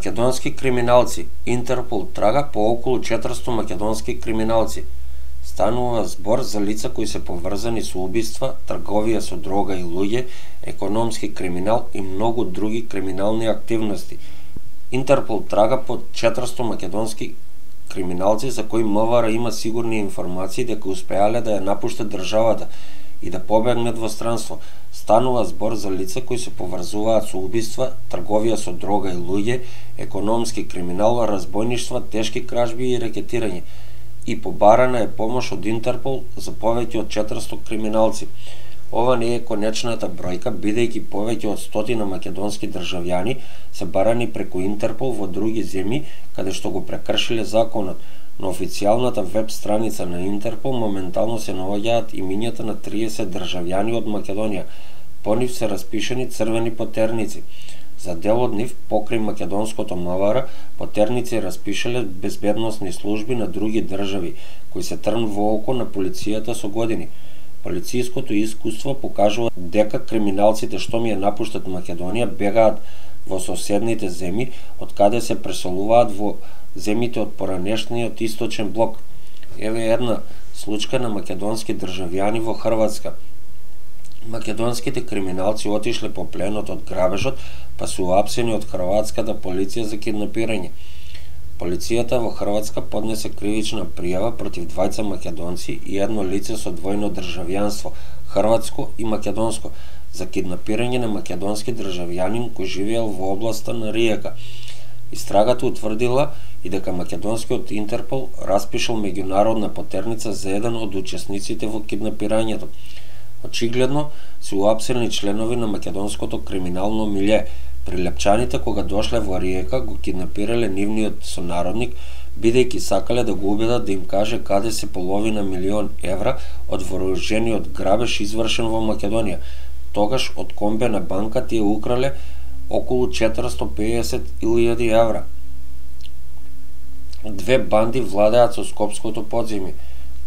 Македонски криминалци. Интерпол трага по околу 400 македонски криминалци. Станува збор за лица кои се поврзани со убиства, трговија со дрога и луѓе, економски криминал и многу други криминални активности. Интерпол трага по 400 македонски криминалци за кои МВР има сигурни информации дека успеале да ја напуштат државата и да побегнат во странство. Станува збор за лица кои се поврзуваат со убиства, трговија со дрога и луѓе, економски криминал, разбойништва, тешки кражби и рекетирање. И побарана е помош од Интерпол за повеќе од 400 криминалци. Ова не е конечната бројка, бидејќи повеќе од 100 македонски државјани се барани преку Интерпол во други земји каде што го прекршиле законот. На официјалната веб страница на Интерпол моментално се наоѓаат имињата на 30 државјани од Македонија. По нив се распишани црвени потерници. За дел од нив, покрај македонското МВР, потерници распишале безбедносни служби на други држави, кои се трн во око на полицијата со години. Полицијското искуство покажува дека криминалците што ми ја напуштат Македонија бегаат во соседните земји, од каде се преселуваат во земјите од поранешниот источен блок. Еве една случка на македонски државјани во Хрватска. Македонските криминалци отишле по пленот од грабежот, па се уапсени од хрватската полиција за киднапирање. Полицијата во Хрватска поднесе кривична пријава против двајца македонци и едно лице со двојно државјанство, хрватско и македонско, за киднапирање на македонски државјанин кој живеел во областа на Риека. Истрагата утврдила и дека македонскиот Интерпол распишал меѓународна потерница за еден од учесниците во киднапирањето. Очигледно се уапсени членови на македонското криминално милје. Прилепчаните кога дошле во Риека го киднапирале нивниот сонародник, бидејќи сакале да го убедат да им каже каде се половина милион евра од вооружениот грабеж извршен во Македонија. Тогаш од комбе на банка тие украле околу 450.000 евра. Две банди владеат со Скопското подземје.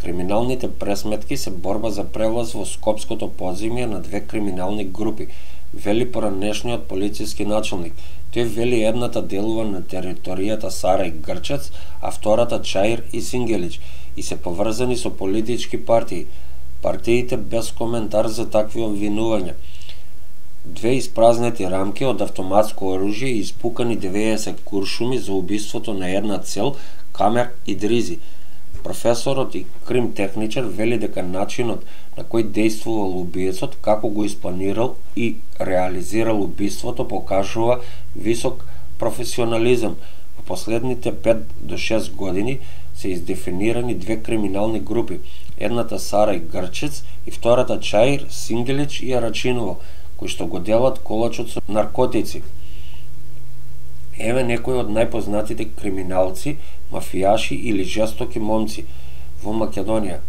Криминалните пресметки се борба за прелаз во Скопското подземје на две криминални групи, вели поранешниот полициски началник. Тој вели едната делува на територијата Сарај Грчец, а втората Чаир и Сингелич и се поврзани со политички партии. Партиите без коментар за такви обвинувања. Две испразнети рамки од автоматско оружје и испукани 90 куршуми за убиството на една цел, Камер Идризи. Професорот и кримтехничар вели дека начинот на кој действувал убиецот, како го испланирал и реализирал убиството покажува висок професионализам. Во последните 5 до 6 години се издефинирани две криминални групи, едната Сарај Грчец и втората Чаир, Сингелич и Арачиново, кои што го делат колачот со наркотици. Еве некои од најпознатите криминалци, мафијаши или жестоки момци во Македонија.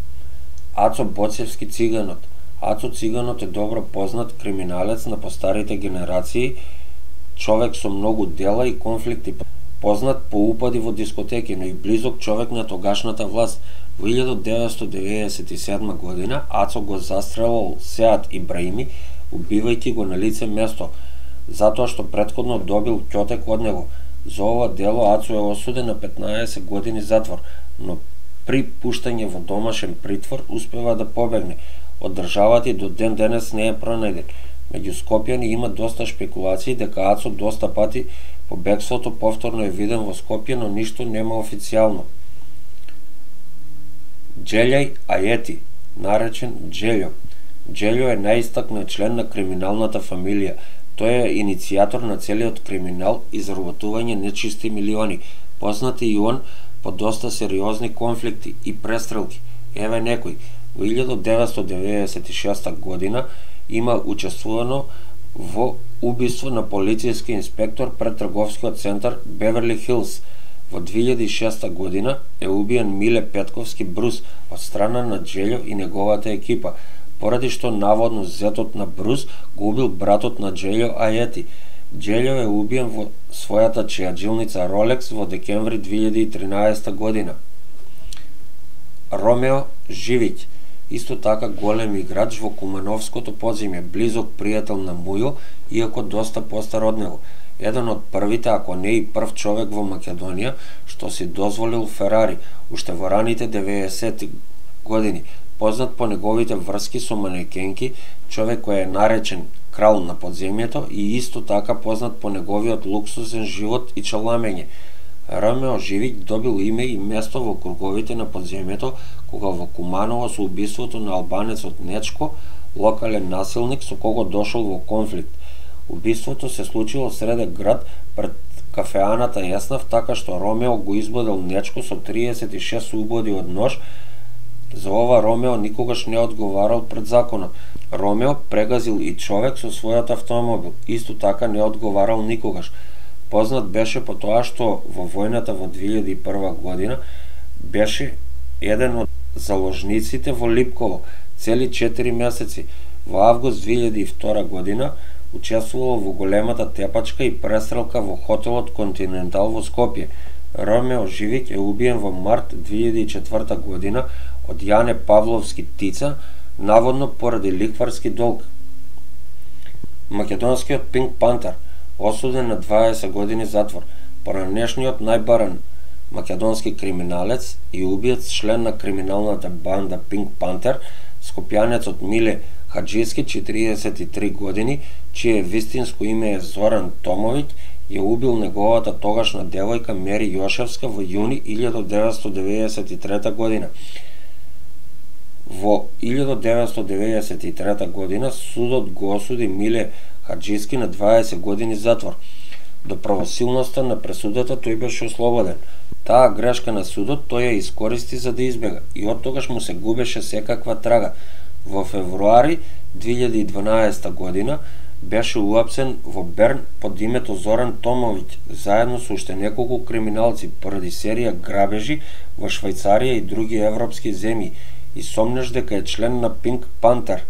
Ацо Боцевски Циганот. Ацо Циганот е добро познат криминалец на постарите генерации, човек со многу дела и конфликти, познат по упади во дискотеки, но и близок човек на тогашната власт. Во 1997 година Ацо го застрелал Сеат Ибраими, убивајќи го на лице место, затоа што претходно добил ќотек од него. За ова дело Ацо е осуден на 15 години затвор, но при пуштање во домашен притвор успева да побегне од државата и до ден денес не е пронајден. Меѓу Скопјани има доста шпекулации дека Ацо доста пати по бегството повторно е виден во Скопје, но ништо нема официјално. Џелјај Ајети, наречен Џелјо. Џелјо е најистакнат член на криминалната фамилија. Тој е иницијатор на целиот криминал и заработување нечисти милиони. Познат е и он по доста сериозни конфликти и престрелки. Еве некој. Во 1996 година има учествувано во убиство на полицијски инспектор пред трговскиот центар Беверли Хилс. Во 2006 година е убиен Миле Петковски Брус од страна на Џелјо и неговата екипа, поради што наводно зетот на Брус го убил братот на Џелјо Ајети. Џелјо е убиен во својата чејаджилница Ролекс во декември 2013 година. Ромео Живиќ, исто така голем играч во Кумановското подземје, близок пријател на Мујо, иако доста постар од него. еден од првите, ако не и прв човек во Македонија што си дозволил Ферари уште во раните 90-ти години, познат по неговите врски со манекенки, човек кој е наречен крал на подземјето и исто така познат по неговиот луксузен живот и чаламење. Ромео Живик добил име и место во круговите на подземјето кога во Куманово со убиството на албанецот Нечко, локален насилник со кого дошол во конфликт. Убиството се случило среде град пред кафеаната Јеснав, така што Ромео го избодел Нечко со 36 убоди од нож. За ова Ромео никогаш не одговарал пред законот. Ромео прегазил и човек со својот автомобил, исто така не одговарал никогаш. Познат беше по тоа што во војната во 2001 година беше еден од заложниците во Липково цели 4 месеци. Во август 2002 година учествувал во големата тепачка и престрелка во хотелот Континентал во Скопје. Ромео Живик е убиен во март 2004 година од Јане Павловски Тица, наводно поради лихварски долг. Македонскиот Пинк Пантер, осуден на 20 години затвор, поранешниот најбаран македонски криминалец и убиец, член на криминалната банда Пинк Пантер, скопјанецот Миле Хаджиски, 43 години, чие вистинско име е Зоран Томовиќ, ја убил неговата тогашна девојка Мери Јошевска во јуни 1993 година. Во 1993 година судот го осуди Миле Хаджиски на 20 години затвор. До правосилноста на пресудата тој беше ослободен. Таа грешка на судот тој ја искористи за да избега и оттогаш му се губеше секаква трага. Во февруари 2012 година беше уапсен во Берн под името Зоран Томовиќ, заедно со уште неколку криминалци поради серија грабежи во Швајцарија и други европски земји и сомнеш дека е член на Пинк Пантер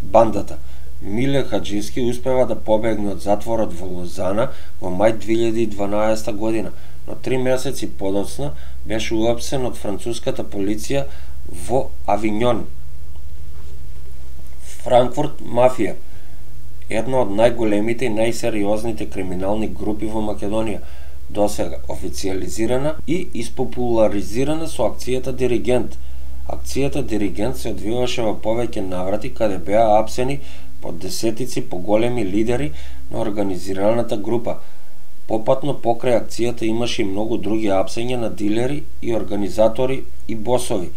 бандата. Миле Хаджиски успева да побегне од затворот во Лозана во мај 2012 година, но 3 месеци подоцна беше уапсен од француската полиција во Авињон. Франкфурт мафија, една од најголемите и најсериозните криминални групи во Македонија, досега официализирана и испопуларизирана со акцијата Диригент. Акцијата Диригент се одвиваше во повеќе наврати каде беа апсени по десетици поголеми лидери на организираната група. Попатно покрај акцијата имаше и многу други апсења на дилери и организатори и босови,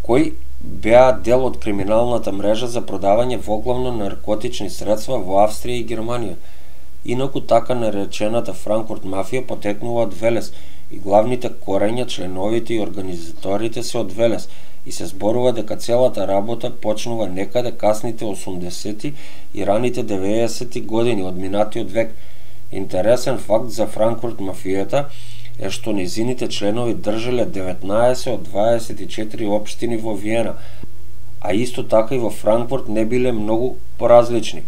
кои беа дел од криминалната мрежа за продавање воглавно наркотични средства во Австрија и Германија. Инаку така наречената Франкфурт мафија потекнува од Велес и главните корења, членовите и организаторите се од Велес и се зборува дека целата работа почнува некаде касните 80-ти и раните 90-ти години од минатиот век. Интересен факт за Франкфурт мафијата е што незините членови држеле 19 од 24 општини во Виена, а исто така и во Франкфурт не биле многу поразлични.